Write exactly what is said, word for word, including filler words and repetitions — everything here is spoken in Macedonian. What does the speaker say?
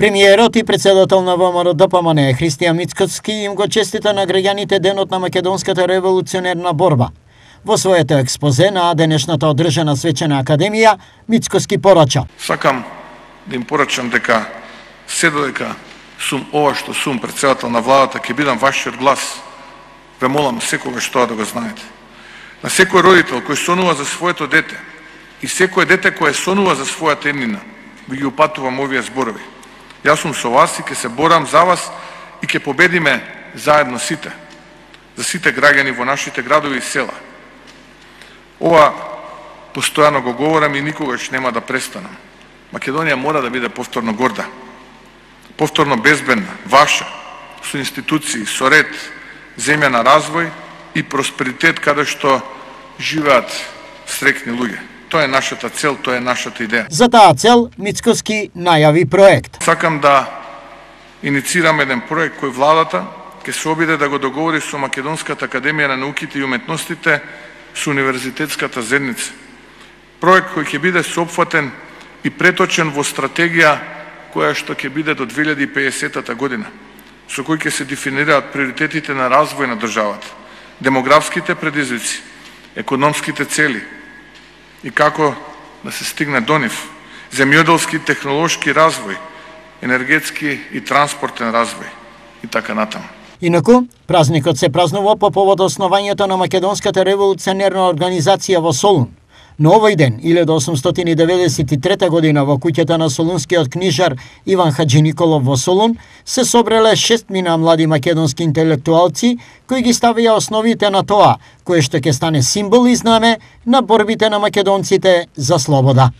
Премиерот и председател на ВМРО Д П М Н Христијан Мицкоски им го честита на граѓаните денот на македонската револуционерна борба. Во своето експозе на денешната одржана свечена академија, Мицкоски порача: Сакам да им порачам дека се додека сум ова што сум председател на владата, ќе бидам вашиот глас. Ве молам секогаш тоа да го знаете. На секој родител кој сонува за своето дете и секој дете кој сонува за својата еднина, ви ги упатувам овие зборови. Јас сум со вас и ќе се борам за вас и ќе победиме заедно сите, за сите граѓани во нашите градови и села. Ова постојано го говорам и никогаш нема да престанам. Македонија мора да биде повторно горда, повторно безбедна, ваша, со институции, со ред, земја на развој и просперитет каде што живеат среќни луѓе. Тоа е нашата цел, тоа е нашата идеја. За таа цел Мицкоски најави проект. Сакам да иницирам еден проект кој владата ќе се обиде да го договори со Македонската академија на науките и уметностите со универзитетската заедница. Проект кој ќе биде соопфатен и преточен во стратегија која што ќе биде до две илјади и педесета година, со кој ќе се дефинираат приоритетите на развој на државата, демографските предизвици, економските цели и како да се стигне до нив, земјоделски и технолошки развој, енергетски и транспортен развој и така натаму. Инаку, празникот се празнува по повод основањето на Македонската револуционерна организација во Солун. Но овој ден, илјада осумстотини деветдесет и трета година, во куќата на солунскиот книжар Иван Хаџи Николов во Солун, се собрале шестмина млади македонски интелектуалци кои ги ставија основите на тоа, кое што ќе стане символ и знаме на борбите на македонците за слобода.